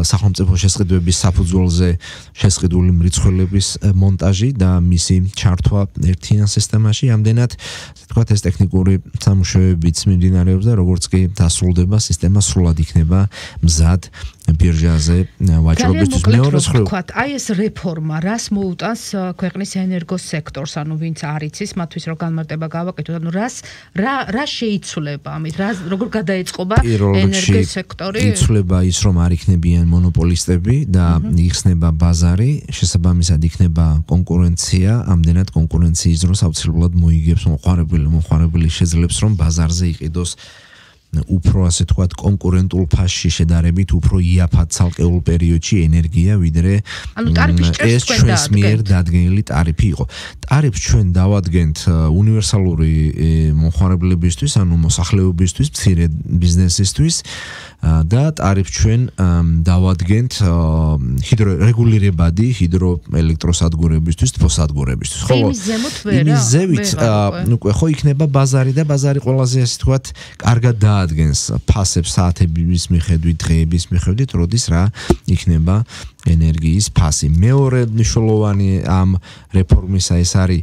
სახელმწიფო შესყიდვების საფუძველზე შესყიდული მრიცხველების მონტაჟი და მისი ჩართვა ერთიან სისტემაში. ამდენად, ასე ვთქვათ, ეს ტექნიკური სამუშაოებიც მიმდინარეობს და როგორც კი დასრულდება, სისტემა სრულად იქნება მზად ბირჟაზე ვაჭრობისთვის. მეორე მხრივ, აი ეს რეფორმა რას მოუტანს ქვეყნის ენერგოს სექტორს, ანუ ვინც არ იცის, მათთვის რო განმარტება გავაკეთოთ, ანუ რას რა რა შეიცვლება ამით, რა როგორ გადაეწყობა ენერგოს სექტორი? იცვლება ის, რომ არ იქნებიან მონოპოლისტები და იხსნება ბაზარი, შესაბამისად იქნება კონკურენცია, ამდენად კონკურენციის დროს აუცილებლად მოიგებს მომხმარებელი, მომხმარებელი შეძლებს, რომ ბაზარზე იყიდოს უფრო ასე თქვათ კონკურენტულ ფასში შედარებით უფრო იაფად ცალკეულ პერიოდში ენერგია, ვიდრე ეს ჩვენს მიერ დადგენილი ტარიფი იყო. ტარიფს ჩვენ დავადგენთ უნივერსალური მომხმარებლებისთვის, ანუ მოსახლეობისთვის, მცირე ბიზნესისთვის და ტარიფს ჩვენ დავადგენთ ჰიდრორეგულირებადი ჰიდროელექტროსადგურებისთვის, თბოსადგურებისთვის. ხოლო იმის ზემოთ ვერა. იმის ზევით, უკვე ხო იქნება ბაზარი და ბაზარი ყველაზე ასე თქვათ კარგად ადგენს ფასებს საათების მიხედვით, დღეების მიხედვით, როდის რა იქნება ენერგიის ფასი. მეორე მნიშვნელოვანი ამ რეფორმისა ეს არის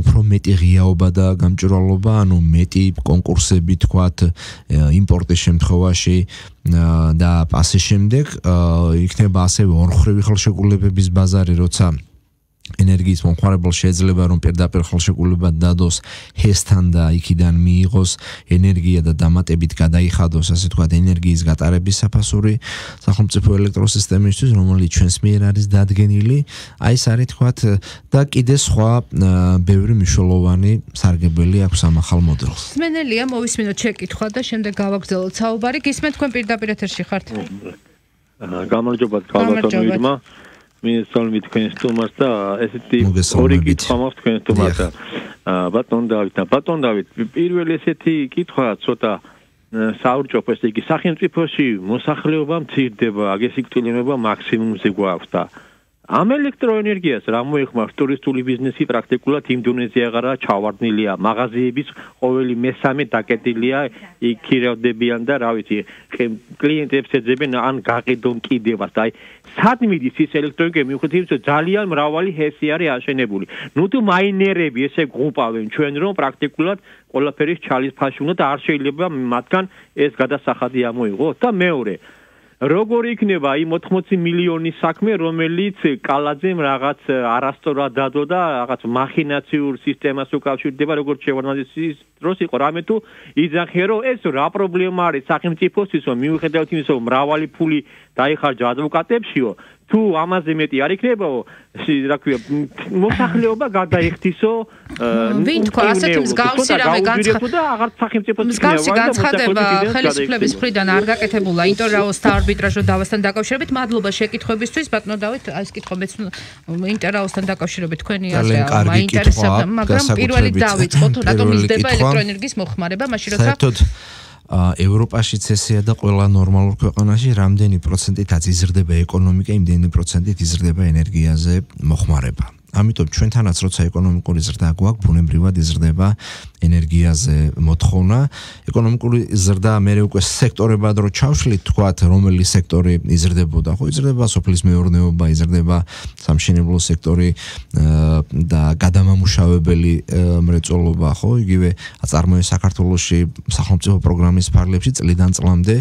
უფრო მეტი ღიაობა და გამჭვირვალობა, ანუ მეტი კონკურსები, თქვათ, იმპორტის შემთხვევაში და ასე შემდეგ, იქნება ასევე ორმხრივი ხელშეკრულებების ბაზარი, როცა ენერგიის მომხმარებელს შეიძლება რომ პირდაპირ ხელშეკრულება დადოს ჰესთან და იქიდან მიიღოს ენერგია და დამატებით გადაიხადოს, ასე თქვათ, ენერგიის გატარების საფასური სახელმწიფო ელექტროსისტემისთვის, რომელიც ჩვენს მიერ არის დადგენილი. აი ეს არის, თქვათ, და კიდე სხვა ბევრი მნიშვნელოვანი სარგებელი აქვს ამ ახალ მოდელს. სმენელია, მოვისმინოთ შეკითხვა და შემდეგ გავაგრძელოთ საუბარი. გისმენთ, თქვენ პირდაპირ ეთერში ხართ? გამარჯობა, ქალბატონო ირმა. მინესწავლები თქვენ სტუმარს და ესეთი ორი კითხვა მაქვს თქვენ სტუმარს და ბატონ დავით და ბატონ დავით, პირველი ესეთი კითხვა ცოტა საურჭოფო, ესე იგი სახელმწიფოში მოსახლეობა მცირდება, აგესიკვდილება მაქსიმუმზე გვაქვს და ამ ელექტროენერგიას რა მოიხმარს ტურისტული ბიზნესი პრაქტიკულად იმ დონეზე აღარა ჩავარდნილია, მაღაზიების ყოველი მესამე დაკეტილია, იქ ქირავდებიან და რა ვიცი, კლიენტებს ეძებენ ან გაყიდონ კიდევაც და აი სად მიდის ის ელექტროენერგია, მიუხედავად იმისა, ძალიან მრავალი ჰესი არის აშენებული. ნუ თუ მაინერები ესე გღუპავენ ჩვენ, რომ პრაქტიკულად ყველაფერი ჩალის ფაში უნდა და არ შეიძლება მათგან ეს გადასახადი ამოიღოს და მეორე როგორ იქნება იმ ოთხმოცი მილიონის საქმე, რომელიც კალაძემ რაღაც არასწორად დადო და რაღაც მახინაციურ სისტემას უკავშირდება, როგორც შევარდნაძის დროს იყო, რამე თუ იძახე, რომ ეს რა პრობლემა არის სახელმწიფოსთვის, რომ მიუხედავად იმისა, რომ მრავალი ფული დაიხარჯა ადვოკატებშიო, თუ ამაზე მეტი არ იქნებაო, რა ქვია, მოსახლეობა გადაიხდისო, ვინ თქვა, ასეთი მსგავსი რამე განცხადება, აღარ სახელმწიფოს მსგავსი განცხადება ხელისუფლების მხრიდან არ გაკეთებულა ინტერაოს და არბიტრაჟო დავასთან დაკავშირებით. მადლობა შეკითხვებისთვის, ბატონო დავით, აი ეს კითხვა მეც ინტერაოსთან დაკავშირებით თქვენი ასე მაინტერესებდა, მაგრამ პირველი დავიწყოთ, რატომ მისდება ელექტროენერგიის მოხმარება, მაშინ როცა საერთოდ ევროპაშიც ესეა და ყველა ნორმალურ ქვეყანაში რამდენი პროცენტითაც იზრდება ეკონომიკა, იმდენი პროცენტით იზრდება ენერგიაზე მოხმარება. ამიტომ ჩვენთანაც როცა ეკონომიკური ზრდა გვაქვს, ბუნებრივად იზრდება ენერგიაზე მოთხოვნა. ეკონომიკური ზრდა მე უკვე სექტორებად რო ჩავშლით, თქვათ, რომელი სექტორი იზრდებოდა, ხო, იზრდება სოფლის მეურნეობა, იზრდება სამშენებლო სექტორი და გადამამუშავებელი მრეწველობა, ხო, იგივე აწარმოებს საქართველოში სახელმწიფო პროგრამის ფარგლებში წლიდან წლამდე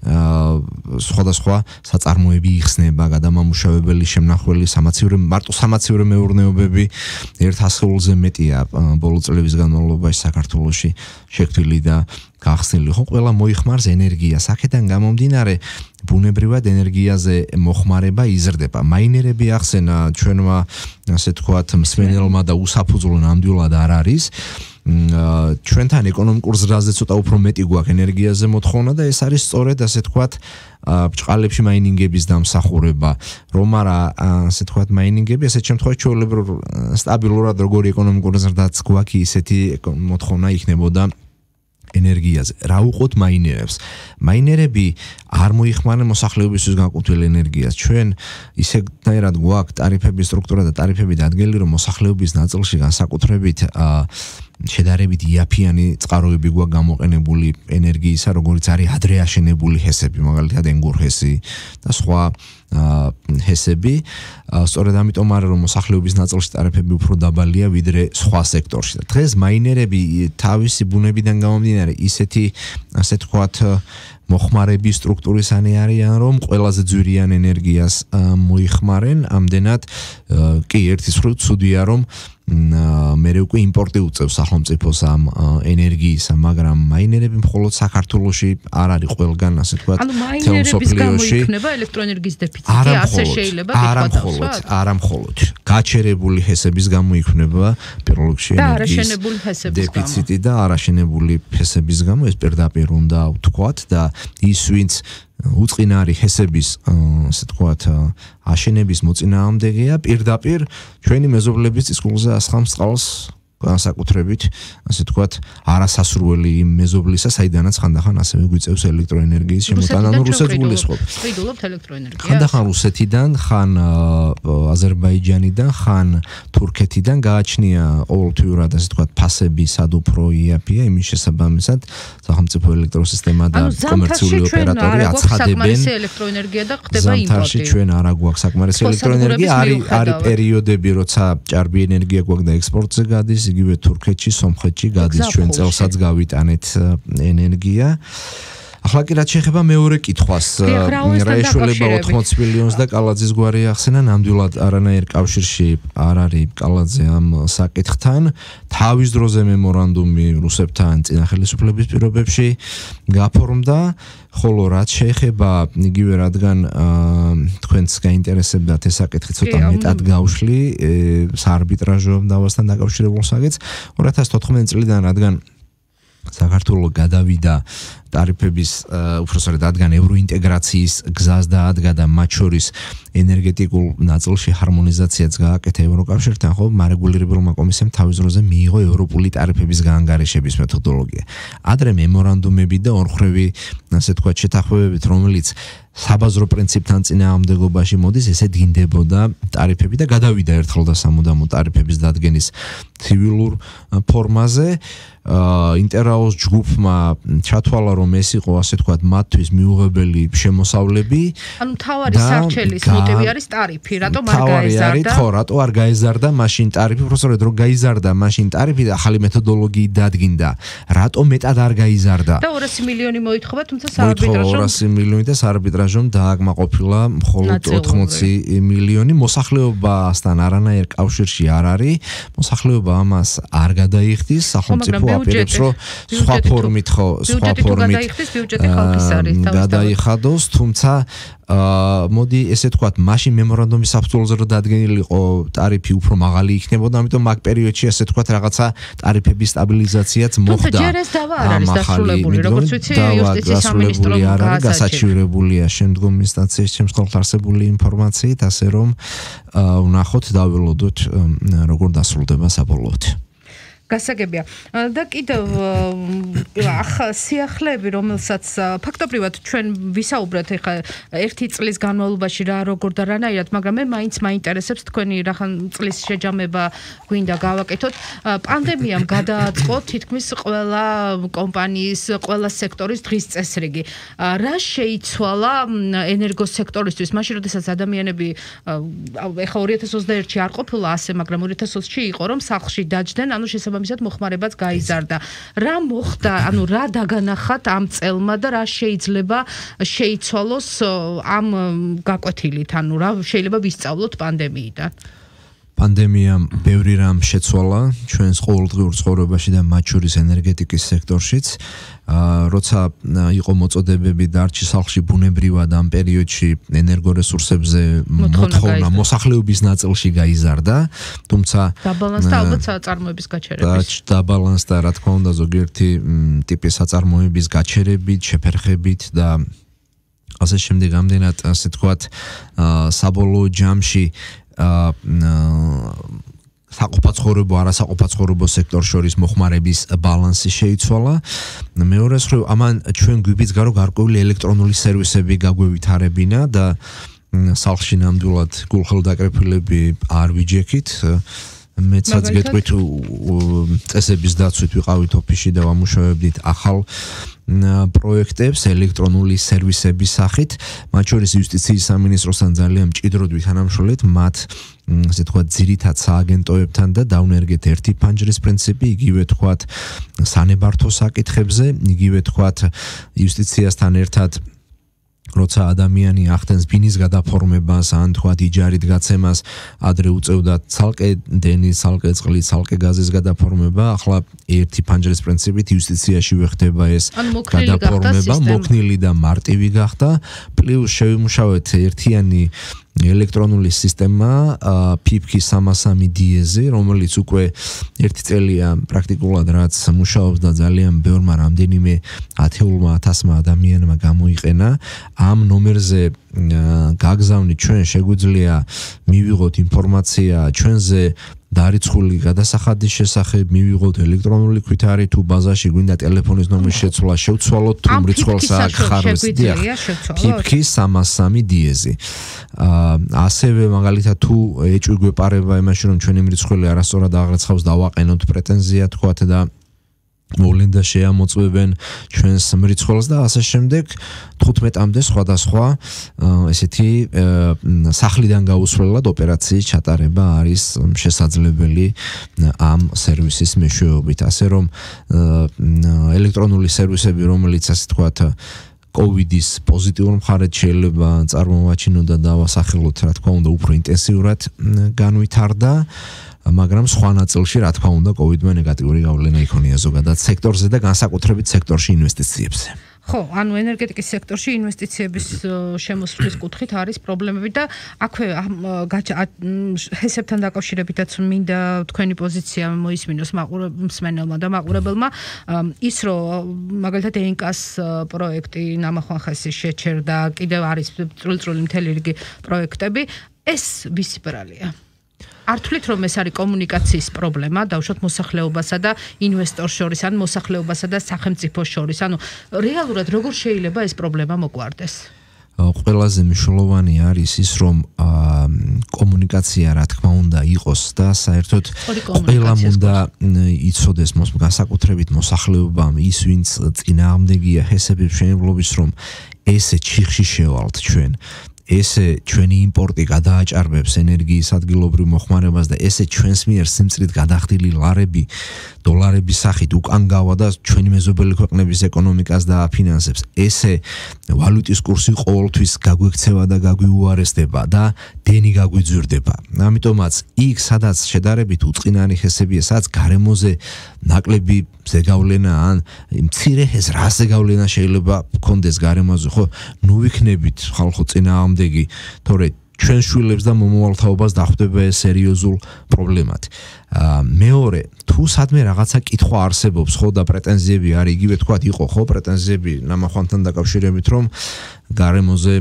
სხვადასხვა საწარმოები იხსნება, გადამამუშავებელი, შემნახველი, სამაცივრო, მარტო სამაცივრო მეურნეობები ერთ ასეულზე მეტია ბოლო წლების განმავლობაში საქართველოში შექმნილი და გახსნილი. ხო, ყველა მოიხმარს ენერგიას. აქედან გამომდინარე, ბუნებრივად ენერგიაზე მოხმარება იზრდება. მაინერები ახსენა ჩვენმა, ასე თქვათ, მსმენელმა და უსაფუძვლო ნამდვილად არ არის. ჩვენთან ეკონომიკურ ზრდაზე ცოტა უფრო მეტი გვაქვს ენერგიაზე მოთხოვნა და ეს არის სწორედ ასე თქვათ ბჭყალებში მაინინგების დამსახურება. რომ არა ასე თქვათ მაინინგები, ასეთ შემთხვევაში ჩვეულებრივ სტაბილურად როგორი ეკონომიკური ზრდაც გვაქვს, ისეთი მოთხოვნა იქნებოდა ენერგიაზე. რა უყოთ მაინერებს? მაინერები არ მოიხმარენ მოსახლეობისთვის განკუთვნილ ენერგიას. ჩვენ ისეთნაირად გვაქვს ტარიფების სტრუქტურა და ტარიფები დადგენილი, რომ მოსახლეობის ნაწილში განსაკუთრებით შედარებით იაფიანი წყაროები გვაქვს გამოყენებული ენერგიისა, როგორც არის ადრე აშენებული ჰესები, მაგალითად ენგურ ჰესი და სხვა ჰესები. სწორედ ამიტომ არის რომ მოსახლეობის ნაწილში ტარიფები უფრო დაბალია ვიდრე სხვა სექტორში. დღეს მაინერები თავისი ბუნებიდან გამომდინარე ისეთი, ასე თქვათ, მოხმარების სტრუქტურისანი არიან, რომ ყველაზე ძვირიან ენერგიას მოიხმარენ. ამდენად კი ერთის მხრივ ცუდია, რომ მე უკვე იმპორტი უწევს სახელმწიფოს ამ ენერგიისა, მაგრამ მაინერები მხოლოდ საქართველოში არ არის ყველგან, ასე თქვათ, თელსოფლიოში. ანუ მაინერების გამო იქნება ელექტროენერგიის დეფიციტი, ასე შეიძლება ვიტყოდავთ. არა მხოლოდ, გაჩერებული ჰესების გამო იქნება პირველ რიგში ენერგიის დეფიციტი და არაშენებული ჰესების გამო, ეს პირდაპირ უნდა ვთქვათ და ის ვინც უწყინარი ჰესების, ასე თქვათ, აშენების მოწინააღმდეგეა, პირდაპირ ჩვენი მეზობლების წისქვილზე ასხამს წყალს განსაკუთრებით, ასე თქვათ, არასასურველი იმ მეზობლისა, საიდანაც ხანდახან ასევე გვიწევს ელექტროენერგიის შემოტანა, ანუ რუსეთს გულისხმობთ. ვიდულობთ ელექტროენერგიას. ხანდახან რუსეთიდან, ხან აზერბაიჯანიდან, ხან თურქეთიდან გააჩნია ყოველთვიურად, ასე თქვათ, ფასები სად უფრო იაფია, იმის შესაბამისად სახელმწიფო ელექტროსისტემა და კომერციული ოპერატორი აცხადებენ ელექტროენერგია და ხდება იმპორტი. ზამთარში ჩვენ არ აგვაქვს საკმარისი ელექტროენერგია, არის არის პერიოდები, როცა ჭარბი ენერგია გვაქვს და ექსპორტზე გადის, იგივე თურქეთში, სომხეთში გადის, ჩვენ წელსაც გავიტანეთ ენერგია. ახლა კი რაც შეეხება მეორე კითხვას, რა ეშველება ოთხმოც მილიონს და კალაძის გვარი ახსენა, ნამდვილად არანაირ კავშირში არ არის კალაძე ამ საკითხთან. თავის დროზე მემორანდუმი რუსებთან წინა ხელისუფლების პირობებში გაფორმდა, ხოლო რაც შეეხება იგივე რადგან თქვენს გაინტერესებდათ ეს საკითხი ცოტა მეტად გავშლი საარბიტრაჟო დავასთან დაკავშირებულ საკითხს, ორი ათას თოთხმეტი წლიდან რადგან საქართველო გადავიდა ტარიფების უბრალოდ რადგან ევროინტეგრაციის გზას დაადგა და მათ შორის ენერგეტიკულ ნაწილში ჰარმონიზაციაც გააკეთა ევროკავშირთან, ხო, მარეგულირებელმა კომისიამ თავის დროზე მიიღო ევროპული ტარიფების გაანგარიშების მეთოდოლოგია. ადრე მემორანდუმები და ორმხრივი, ასე თქვათ, შეთანხმებებით, რომელიც საბაზრო პრინციპთან წინააღმდეგობაში მოდის, ესე დგინდებოდა ტარიფები და გადავიდა ერთხელ და სამუდამო ტარიფების დადგენის ცივილურ ფორმაზე. ინტერაოს ჯგუფმა ჩათვალა, რომ ეს იყო, ასე თქვათ, მათთვის მიუღებელი შემოსავლები. ანუ თავარი სარჩელის მოტივი არის ტარიფი, რატომ არ გაეზარდა? ხო, რატო არ გაეზარდა მაშინ ტარიფი, უბრალოდ რომ გაიზარდა მაშინ ტარიფი და ახალი მეთოდოლოგიით დადგინდა. რატო მეტად არ გაიზარდა? და ორასი მილიონი მოითხოვა, თუმცა საარბიტრაჟომ ორასი მილიონი და საარბიტრაჟომ დააკმაყოფილა მხოლოდ ოთხმოცი მილიონი. მოსახლეობასთან არანაირ კავშირში არ არის. მოსახლეობა ამას არ გადაიხდის, სახელმწიფო აპირებს, რომ სხვა ფორმით ხო, სხვა ფორმით გადაიხადოს, თუმცა მოდი ესე თქვათ, მაშინ მემორანდუმის საფუძველზე რომ დადგენილი იყო ტარიფი უფრო მაღალი იქნებოდა, ამიტომ მაგ პერიოდში ესე თქვათ რაღაცა ტარიფების სტაბილიზაციაც მოხდა. თუმცა ჯერ ეს დავა არ არის დასრულებული, როგორც ვიცი, იუსტიციის სამინისტრომ გასაჩივრებულია შემდგომ ინსტანციის შემთხვევით არსებული ინფორმაციით, ასე რომ ვნახოთ, დაველოდოთ როგორ დასრულდება საბოლოოდ. გასაგებია. და კიდევ ახ სიახლეები, რომელსაც ფაქტობრივად ჩვენ ვისაუბრეთ ეხა ერთი წლის განმავლობაში რა როგორ და რანაირად, მაგრამ მე მაინც მაინტერესებს თქვენი რახან წლის შეჯამება გვინდა გავაკეთოთ. პანდემიამ გადააწყო თითქმის ყველა კომპანიის, ყველა სექტორის დღის წესრიგი. რა შეიცვალა ენერგოსექტორისთვის, მაშინ როდესაც ადამიანები ეხა ორი ათას ოცდაერთში არ ყოფილა ასე, მაგრამ ორი ათას ოცში იყო, რომ სახლში დაჯდნენ, ანუ შესაბამისად მოხმარებაც გაიზარდა. რა მოხდა, ანუ რა დაგანახათ ამ წელმა და რა შეიძლება შეიცვალოს ამ გაკვეთილით, ანუ რა შეიძლება ვისწავლოთ პანდემიიდან? პანდემიამ ბევრი რამ შეცვალა ჩვენს ყოველდღიურ ცხოვრებაში და მათ შორის ენერგეტიკის სექტორშიც. როცა იყო მოწოდებები დარჩი სახლში ბუნებრივად ამ პერიოდში ენერგორესურსებზე მოთხოვნა მოსახლეობის ნაწილში გაიზარდა, თუმცა დაბალანსდა ალბათ საწარმოების გაჩერების. დაბალანსდა, რა თქმა უნდა, ზოგიერთი ტიპის საწარმოების გაჩერებით, შეფერხებით და ასე შემდეგ, ამდენად ასე თქვათ, საბოლოო ჯამში საყოფაცხოვრებო, არასაყოფაცხოვრებო სექტორ შორის მოხმარების ბალანსი შეიცვალა. მეორე მხრივ, ამან ჩვენ გვიბიძგა, რომ გარკვეული ელექტრონული სერვისები გაგვევითარებინა და სახლში ნამდვილად გულხელდაკრეფილები არ ვიჯექით. მეცაც გეტყვით წესების დაცვით ვიყავით ოფისში და ვამუშავებდით ახალ პროექტებს ელექტრონული სერვისების სახით, მათ შორის იუსტიციის სამინისტროსთან ძალიან მჭიდროდ ვითანამშრომლეთ მათ ასე თქვათ ძირითად სააგენტოებთან და დავნერგეთ ერთი ფანჯრის პრინციპი, იგივე თქვათ სანებართო საკითხებზე, იგივე თქვათ იუსტიციასთან ერთად როცა ადამიანი ახდენს ბინის გადაფორმებას, ან თქვათ იჯარით გაცემას, ადრე უწევდა ცალკე დენის, ცალკე წყლის, ცალკე გაზის გადაფორმება, ახლა ერთი ფანჯრის პრინციპით იუსტიციაში ვეხდება ეს გადაფორმება, მოქნილი და მარტივი გახდა, პლუს შევიმუშავეთ ერთიანი ელექტრონული სისტემა ფიფკი სამას სამი დიეზი, რომელიც უკვე ერთი წელია პრაქტიკულად რაც მუშაობს და ძალიან ბევრმა რამდენიმე ათეულმა ათასმა ადამიანმა გამოიყენა. ამ ნომერზე გაგზავნით ჩვენ შეგვიძლია მივიღოთ ინფორმაცია ჩვენზე დარიცხული გადასახადის შესახებ, მივიღოთ ელექტრონული ქვითარი, თუ ბაზაში გვინდა ტელეფონის ნომრის შეცვლა, შევცვალოთ თუ მრიცხველს აქ ხარვეს დიახ. ფიფკი სამას სამი დიეზი. ასევე მაგალითად თუ ეჭვი გვეპარება იმაში, რომ ჩვენი მრიცხველი არასწორად აღრაცხავს, დავაყენოთ პრეტენზია თქვათ და მოვლენდა შეამოწმებენ ჩვენს მრიცხველს და ასე შემდეგ. თხუთმეტამდე სხვადასხვა ესეთი სახლიდან გაუსვლელად ოპერაციის ჩატარება არის შესაძლებელი ამ სერვისის მეშვეობით. ასე რომ ელექტრონული სერვისები, რომელიც ასე თქვათ კოვიდის პოზიტიურ მხარეთ შეიძლება წარმოვაჩინოთ და დავასახელოთ, რა თქმა უნდა, უფრო ინტენსიურად განვითარდა. მაგრამ სხვა ნაწილში, რა თქმა უნდა, კოვიდმა ნეგატიური გავლენა იქონია ზოგადად სექტორზე და განსაკუთრებით სექტორში ინვესტიციებზე. ხო, ანუ ენერგეტიკის სექტორში ინვესტიციების შემოსვლის კუთხით არის პრობლემები და აქვე ჰესებთან დაკავშირებითაც მინდა თქვენი პოზიცია მოისმინოს მსმენელმა და მაყურებელმა. ის რომ მაგალითად ენკას პროექტი ნამახვანხესი შეჩერდა, კიდევ არის წვრილ-წვრილი მთელი რიგი პროექტები, ეს ვისი ბრალია? არ თვლით რომ ეს არის კომუნიკაციის პრობლემა, დავუშვათ მოსახლეობასა და ინვესტორს შორის, ან მოსახლეობასა და სახელმწიფოს შორის, ანუ რეალურად როგორ შეიძლება ეს პრობლემა მოგვარდეს? ყველაზე მნიშვნელოვანი არის ის, რომ კომუნიკაცია რა თქმა უნდა იყოს და საერთოდ ყველამ უნდა იცოდეს განსაკუთრებით მოსახლეობამ, ის ვინც წინააღმდეგია ჰესების მშენებლობის, რომ ესე ჩიხში შევალთ ჩვენ. ესე ჩვენი იმპორტი გადააჭარბებს ენერგიის ადგილობრივ მოხმარებას და ესე ჩვენს მიერ სიმწრით გადახდილი ლარები დოლარების სახით უკან გავა და ჩვენი მეზობელი ქვეყნების ეკონომიკას დააფინანსებს. ესე ვალუტის კურსი ყოველთვის გაგვექცევა და გაგვიუარესდება და დენი გაგვიძვირდება. ამიტომაც იქ სადაც შედარებით უწყინარი ჰესებია, სადაც გარემოზე ნაკლები ზეგავლენა ან მცირე ჰეს რა ზეგავლენა შეიძლება გქონდეს გარემოზე, ხო? ნუ ვიქნებით ხალხო წინააღმდეგი, თორე ჩვენ შვილებს და მომავალთაობას დახვდება ეს სერიოზულ პრობლემად. მეორე, თუ სადმე რაღაცა კითხვა არსებობს, ხო და პრეტენზიები არის, იგივე თქვათ იყო, ხო, პრეტენზიები ნამახვანთან დაკავშირებით, რომ გარემოზე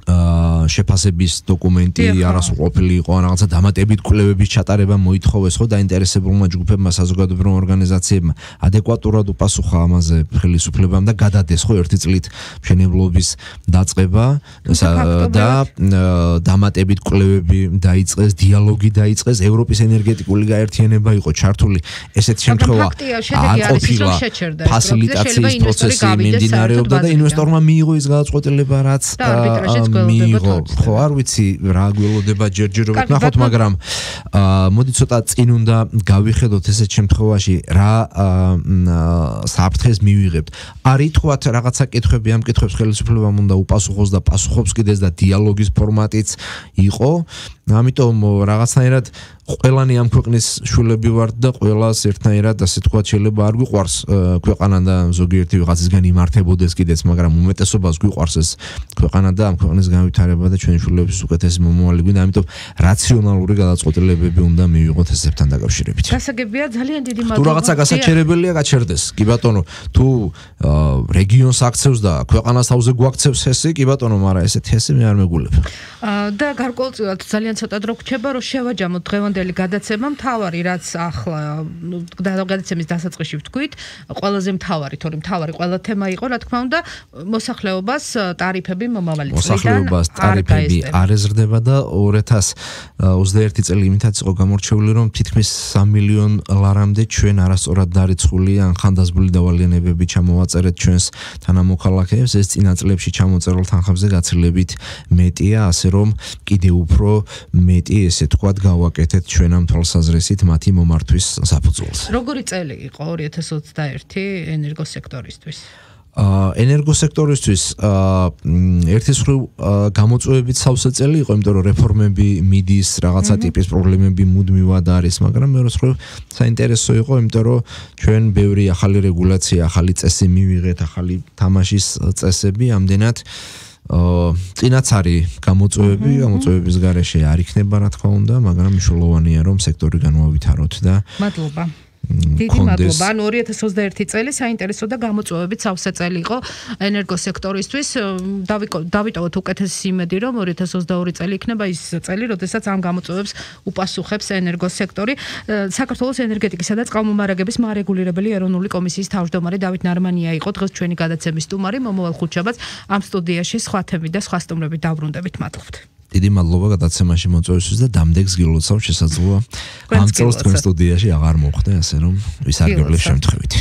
შეფასების დოკუმენტი არასრულყოფილი იყო, რაღაცა დამატებით კვლევების ჩატარება მოითხოვეს, ხო, დაინტერესებულმა ჯგუფებმა, საზოგადოებრივ ორგანიზაციებმა ადეკვატურად უპასუხა ამაზე ხელისუფლებამ და გადადეს, ხო, ერთი წლით მშენებლობის დაწყება და დამატებით კვლევები დაიწყეს, დიალოგი დაიწყეს, ევროპის ენერგეტიკული გაერთიანება იყო ჩართული, ესეთ შემთხვევა არ ყოფილა, ფასილიტაციის პროცესი მიმდინარეობდა და ინვესტორმა მიიღო ის გადაწყვეტილება, რაც მიიღო, ხო, არ ვიცი რა გველოდება ჯერჯერობით ნახოთ, მაგრამ მოდი ცოტა წინ უნდა გავიხედოთ ესეთ შემთხვევაში რა საფრთხეს მივიღებთ. არ ითქვათ რაღაცა კითხვები, ამ კითხვებს ხელისუფლებამ უნდა უპასუხოს და პასუხობს კიდეც და დიალოგის ფორმატიც იყო, ამიტომ რაღაცნაირად ყველანი ამ ქვეყნის შვილები ვართ და ყველას ერთნაირად ასე თქვა შეიძლება არ გვიყვარს ქვეყანა და ზოგიერთი ვიღაცისგან იმართებოდეს კიდეც, მაგრამ უმეტესობას გვიყვარს ეს ქვეყანა და ამ ქვეყნის განვითარება და ჩვენი შვილების უკეთესი მომავალი გვინდა, ამიტომ რაციონალური გადაწყვეტილებები უნდა მივიღოთ ესებთან დაკავშირებით. გასაგებია, ძალიან დიდი მადლობა. თუ რაღაცა გასაჩერებელია, გაჩერდეს. კი ბატონო, თუ რეგიონს აქცევს და ქვეყანას თავზე გვაქცევს ესე, კი ბატონო, მაგრამ ესეთი ესე მე არ მეგულებ. და გარკვეულწილად ძალიან ცოტა დრო გრჩება, რომ შევაჯამოთ დღევანდელი გადაცემა, მთავარი რაც ახლა გადაცემის დასაწყისში ვთქვით, ყველაზე მთავარი, თორემ მთავარი ყველა თემა იყო, რა თქმა უნდა, მოსახლეობას ტარიფები მომავალი წლიდან მოსახლეობას ტარიფები არ ეზრდება და ორი ათას ოცდაერთი წელი იმითაც იყო გამორჩეული, რომ თითქმის სამი მილიონ ლარამდე ჩვენ არასწორად დარიცხული ან ხანდაზმული დავალიანებები ჩამოვაწერეთ ჩვენს თანამოქალაქეებს, ეს წინა წლებში ჩამოწერილ თანხებზე გაცილებით მეტია, ასე რომ კიდე უფრო მეტი ესე თქვათ გავაკეთეთ ჩვენ ამ თვალსაზრისით მათი მომართვის საფუძველს. როგორი წელი იყო ორი ათას ოცდაერთი ენერგოსექტორისთვის? ენერგოსექტორისთვის ერთის მხრივ გამოწვევებით სავსე წელი იყო, იმიტომ რომ რეფორმები მიდის, რაღაცა ტიპის პრობლემები მუდმივად არის, მაგრამ მეორე მხრივ საინტერესო იყო, იმიტომ რომ ჩვენ ბევრი ახალი რეგულაცია, ახალი წესი მივიღეთ, ახალი თამაშის წესები, ამდენად წინაც არის გამოწვევები, გამოწვევების გარეშე არ იქნება რა თქმა უნდა, მაგრამ მნიშვნელოვანია რომ სექტორი განვავითაროთ და მადლობა. დიდი მადლობა. ანუ ორი ათას ოცდაერთი წელი საინტერესო და გამოწვევებით სავსე წელი იყო ენერგოსექტორისთვის. დავიტოვოთ უკეთესი იმედი, რომ ორი ათას ოცდაორი წელი იქნება ის წელი, როდესაც ამ გამოწვევებს უპასუხებს ენერგოსექტორი. საქართველოს ენერგეტიკისა და წყალმომარაგების მარეგულირებელი ეროვნული კომისიის თავმჯდომარე დავით ნარმანია იყო დღეს ჩვენი გადაცემის სტუმარი. მომავალ ხუთშაბათს ამ სტუდიაში სხვა თემით და სხვა სტუმრებით დავბრუნდებით. მადლობთ. დიდი მადლობა გადაცემაში მოწვევისთვის და დამდეგს გილოცავ შესაძლოა ამ წელს თქვენ სტუდიაში აღარ მოხვდე, ასე რომ ვისარგებლეს შემთხვევით.